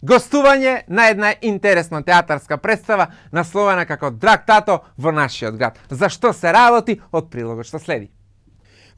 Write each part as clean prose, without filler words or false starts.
Гостување на една интересна театарска представа насловена како Драг тато во нашиот град. За што се работи од прилогот што следи.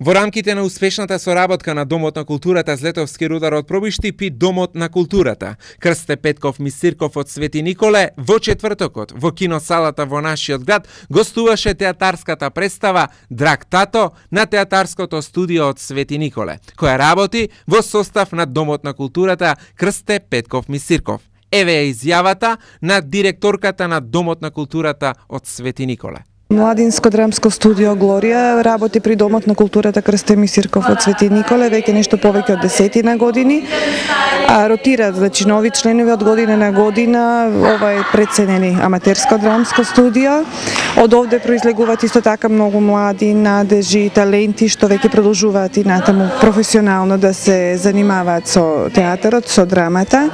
Во рамките на успешната соработка на Домот на културата Злетовски рудар од Пробиштип и Домот на културата Крсте Петков Мисирков од Свети Николе, во четвртокот во киносалата во нашиот град гостуваше театарската представа Драг тато на театарското студио од Свети Николе, која работи во состав на Домот на културата Крсте Петков Мисирков. Еве е изјавата на директорката на Домот на културата од Свети Николе. Младинско драмско студио Глорија работи при Домот на културата Крсте Мисирков од Свети Николе веќе нешто повеќе од 10 години. Ротираат, значи нови членови од година на година. Ова е преценени аматерско драмско студио. Од овде произлегуваат исто така многу млади надежи, таленти што веќе продолжуваат и натаму професионално да се занимаваат со театарот, со драмата.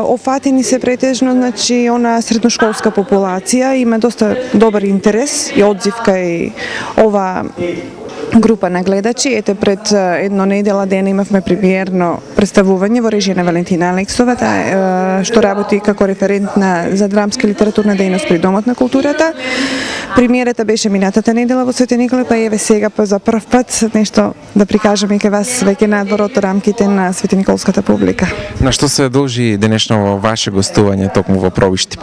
Офатени се претежно, значи, она средношколска популација, има доста добар интерес и одзив кај ова група на гледачи. Ете, пред едно недела дена имавме премиерно представување во режија на Валентина Алексова, што работи како референт за драмска и литературна дејност при Домот на културата. Премиерата беше минатата недела во Свети Николе, па еве сега за прв пат нешто да прикажеме и кај вас веќе надвор од рамките на Свети Николската публика. На што се должи денешно ваше гостување токму во Пробиштип?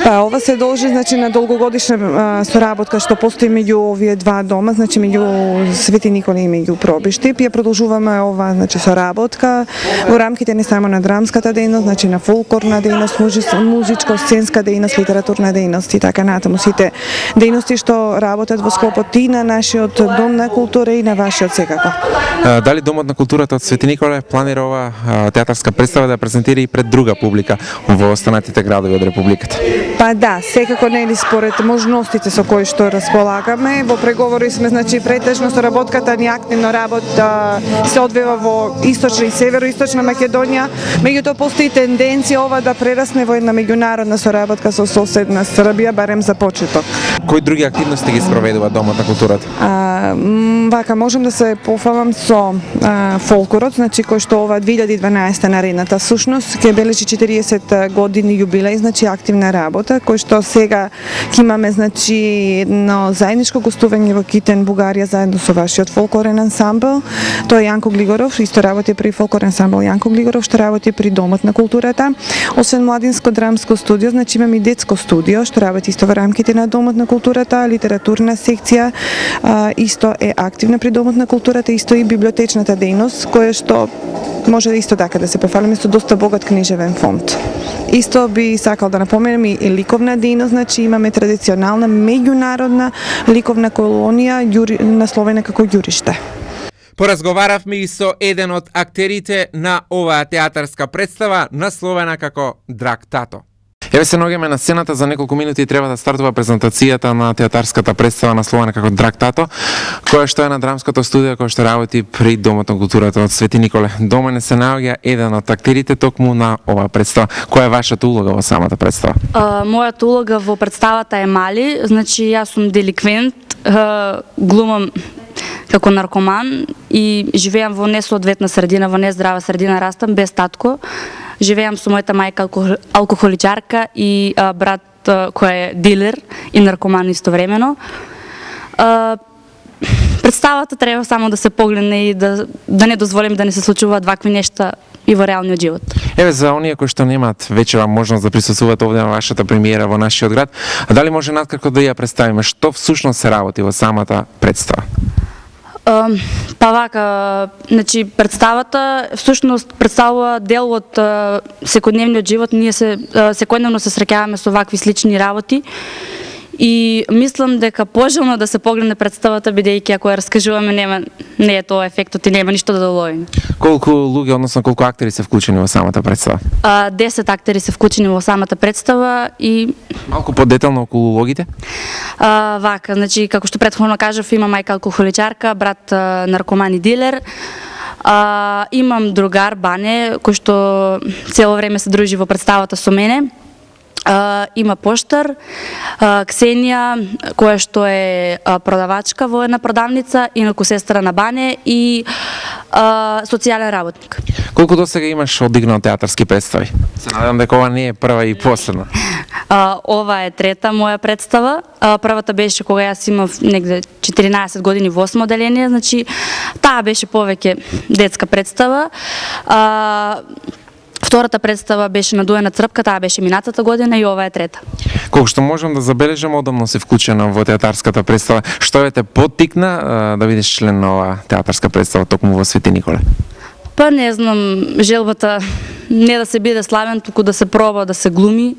Па ова се должи, значи, на долгогодишна соработка што постои меѓу овие два дома, значи меѓу Свети Николе и меѓу Пробиштип. Ја продолжуваме ова, значи, соработка во рамките не само на драмската дејност, значи на фолклорна дејност, музичко-сценска дејност, литературна дејност и така натаму. Сите дејности што работат во склопот и на нашиот Дом на култура и на вашиот секако. Дали Домот на културата од Свети Николе планира ова театарска представа да презентира и пред друга публика во останатите градови од Републиката? Па да, секако нели според можностите со кои што располагаме. Во преговори сме, значи, претежно соработката ни активно работа се одвива во источна и североисточна Македонија. Меѓутоа постои тенденција ова да прерасне во една меѓународна соработка со соседна Србија, барем за почеток. Кои други активности ги спроведува Домот на културата? Вака можам да се пофалам со фолклорот, значи кој што ова 2012 наредната сушност ќе бележи 40 години јубилеј, значи активна работа, кој што сега ќе имаме, значи, едно заедничко гостување во Китен, Бугарија, заедно со вашиот фолклорен ансамбл. Тој е Јанко Глигоров, исто работи при фолклорен ансамбл Јанко Глигоров, што работи при Домот на културата. Освен младинско драмско студио, значи имаме и детско студио што работи исто во рамките на Домот на културата, литературна секција исто е активна при Домот на културата, исто и библиотечната дејност, која што може исто така да се пофалиме со доста богат книжевен фонд. Исто би сакал да напоменем и ликовна дејност, значи имаме традиционална меѓународна ликовна колонија насловена како Ѓуриште. Поразговаравме и со еден од актерите на оваа театарска представа насловена како Драг тато. Еве се наоѓаме на сцената, за неколку минути треба да стартува презентацијата на театарската представа насловена како Драг тато, која што е на драмското студио кој што работи при Домот на културата од Свети Николе. До мене се наоѓа еден од актерите токму на оваа представа. Која е вашата улога во самата представа? Мојата улога во представата е мали, значи јас сум деликвент, глумам како наркоман и живеам во несоодветна средина, во нездрава средина, растам без татко. Живеам со мојата мајка алкохоличарка и брат кој е дилер и наркоман истовремено. Представата треба само да се погледне и да не дозволим да не се случуваат вакви нешта и во реалниот живот. Еве, за оние кои што немаат вечера можност да присуствуваат овде на вашата премиера во нашиот град, дали може наткратко да ја представиме што всушност се работи во самата представа? Па вака, значи представата всушност представува дел од секојдневниот живот. Ние секојдневно се среќаваме со вакви слични работи и мислам дека пожелно да се погледне представата, бидејќи ако ја раскажуваме не е тоа ефектот и нема ништо да доловиме. Колку луѓе, односно колку актери се вклучени во самата представа? 10 актери се вклучени во самата представа и малку подетално околу улогите? Вака, значи како што претходно кажав, има мајка алкохоличарка, брат наркоман и дилер. Имам другар Бане кој што цело време се дружи во представата со мене. Има поштар, Ксенија, која што е продавачка во една продавница, инаку сестра на Бане, и социјален работник. Колку досега имаш одигнал театарски представи? Се надевам дека ова не е прва и последна. Ова е трета моја представа. Првата беше кога јас имав негде 14 години во 8 оделение, значи таа беше повеќе детска представа. Втората представа беше Надуена црпка, таа беше минатата година и ова е трета. Колку што можам да забележам, одамно се вклучена во театарската представа. Што ве те поттикна да бидеш член на оваа театарска представа токму во Свети Николе? Па не знам, желбата не да се биде славен, туку да се проба, да се глуми,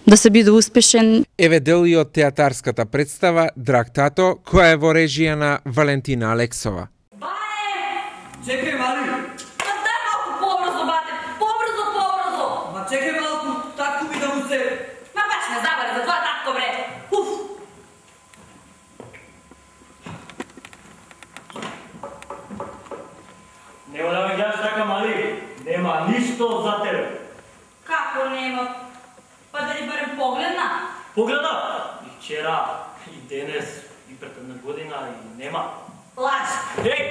да се биде успешен. Еве дел и од театарската представа Драг тато, која е во режија на Валентина Алексова. Чекај, мали! Ма дай малку побрзо, бате! Побрзо, побрзо! Ма чекај малку, татко ми да му се... Ма баш ме забаре за твоја татко, бре! Уф! Нема да ме гледаш така, мали! Нема ништо за тебе! Како нема? Па дали барем погледна? Погледна! И вчера, и денес, и пред една година, и нема. Лаж! Ей!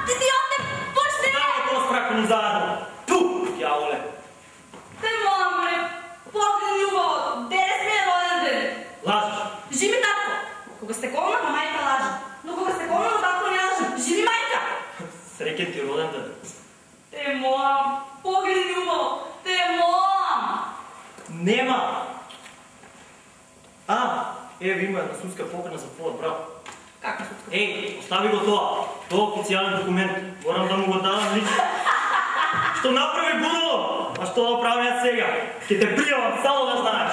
Ти отне, почни! Ставаме тоа спракани заедно! Ту! Јаволе! Те молам, бре! Погледни убаво! Денес ми е роден ден! Лажеш! Живи татко! Кога сте колна, ма мајка лажа. Но кога сте колна, ма татко не лажа. Живи мајка! Среќен ти роден ден! Те молам! Погледни убаво! Те молам! Нема! Еве има една судска покана за твојот брат. Како судска? Еј, остави го тоа. Тоа е официјален документ. Морам да му го дадам лично. Што направи будало? А што да правам јас сега? Ќе те пријавам, само да знаеш.